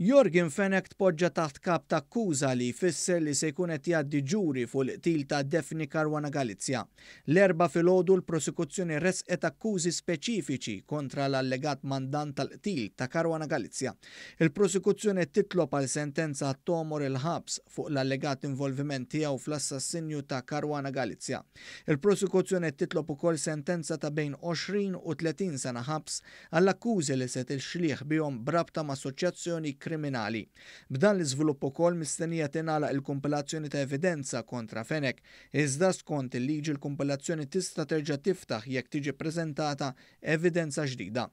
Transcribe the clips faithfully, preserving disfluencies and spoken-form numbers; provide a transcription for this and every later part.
Yorgen Fenech tpoġġa taħt kap ta' akkuża, li jfisser li se jkun qed jgħaddi ġuri fuq il-qtil ta' Daphne Caruana Galizia. L-Erbgħa filgħodu l-prosekuzzjoni resqet akkużi speċifiċi kontra l-allegat mandant tal-qtil ta' Caruana Galizia. Il-prosekuzzjoni titlob għal sentenza t'għomor il-ħabs fuq l-allegat involviment tiegħu fl-assassinju ta' Caruana Galizia. Il-prosekuzzjoni titlob ukoll sentenza ta' bejn għoxrin u tletin sena ħabs għall-akkużi li se tixlih bihom b'rabta ma' assoċjazzjoni kriminali. B'dan l-iżvilupp ukoll mistennija tingħalaq il-kumpilazzjoni ta' evidenza kontra Fenech, iżda skont il-liġi l-kumpilazzjoni tista' terġa' tiftaħ jekk tiġi preżentata evidenza ġdida.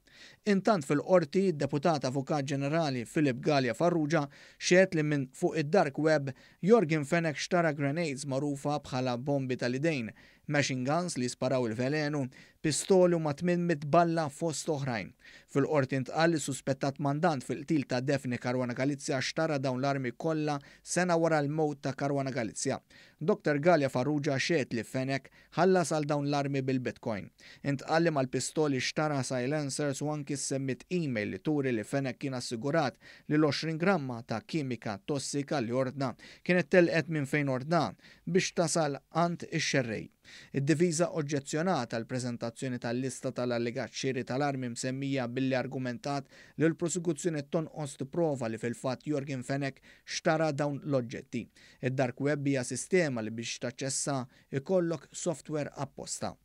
Intant fil-qorti, deputat Avukat Ġenerali Philip Galea Farrugia xehed li minn fuq id-dark web Yorgen Fenech xtara grenades magħrufa bħala bombi tal-idejn, machine guns li sparaw il-velenu, pistoli u ma' tmien mitt balla fost oħrajn. Fil-qorti ntqal li suspettat mandant fil-qtil ta' Daphne Caruana Galizia xtara dawn l-armi kollha sena wara l-mewt ta' Caruana Galizia. Doktor Galea Farrugia xehed li Fenech ħallas għal dawn l-armi bil-Bitcoin. Intqal li mal-pistoli xtara silencers u anki semmiet email li turi li Fenech kien assigurat li l-għoxrin gramma ta' kimika tossika li ordna kienet telqet minn fejn ordna biex tasal għand ix-xerrej. Id-difiża oġġezzjonat għal preżentazzjoni tal-lista tal-allegat xiri tal-armi msemmija, billi argumentat li l-prosekuzzjoni tonqos prova li fil-fatt Yorgen Fenech xtara dawn l-oġġetti. Id-dark web hija sistema li biex taċċessa ikollok software apposta.